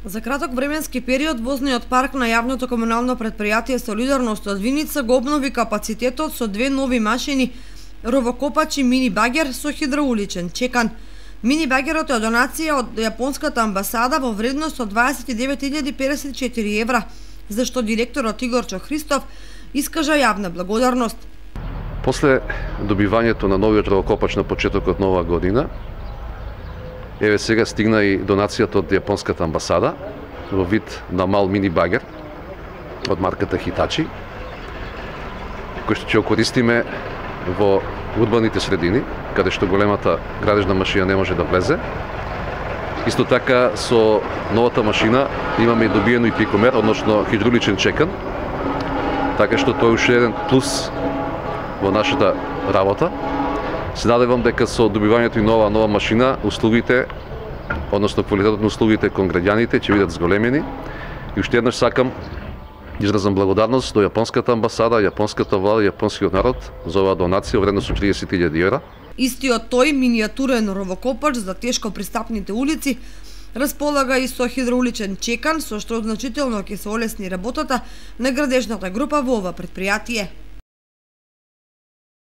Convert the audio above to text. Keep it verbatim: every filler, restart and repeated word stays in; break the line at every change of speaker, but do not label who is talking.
За краток временски период возниот парк на јавното комунално предпријатие Солидарност од Виница го обнови капацитетот со две нови машини ровокопач и мини багер со хидроуличен чекан. Мини багерот е донација од јапонската амбасада во вредност од дваесет и девет илјади педесет и четири евра, за што директорот Игорчо Христов искажа јавна благодарност.
После добивањето на новиот ровокопач на почетокот на оваа година, еве сега стигна и донацијата од јапонската амбасада во вид на мал мини багер од марката Хитачи, кој што ќе го користиме во урбаните средини, каде што големата градежна машина не може да влезе. Исто така со новата машина имаме и добиено и пикомер, односно хидравличен чекан, така што тој уште еден плюс во нашата работа. Се надевам дека со добивањето и нова нова машина услугите, односно квалитетот на услугите кон граѓаните ќе бидат зголемени. И уште еднаш сакам изразам благодарност до јапонската амбасада, јапонската влада и јапонскиот народ за оваа донација во вредност од триесет илјади евра.
Истиот тој минијатурен ровокопач за тешко пристапните улици располага и со хидрауличен чекан, со што значително ќе се олесни работата на градежната група во ова предпријатие.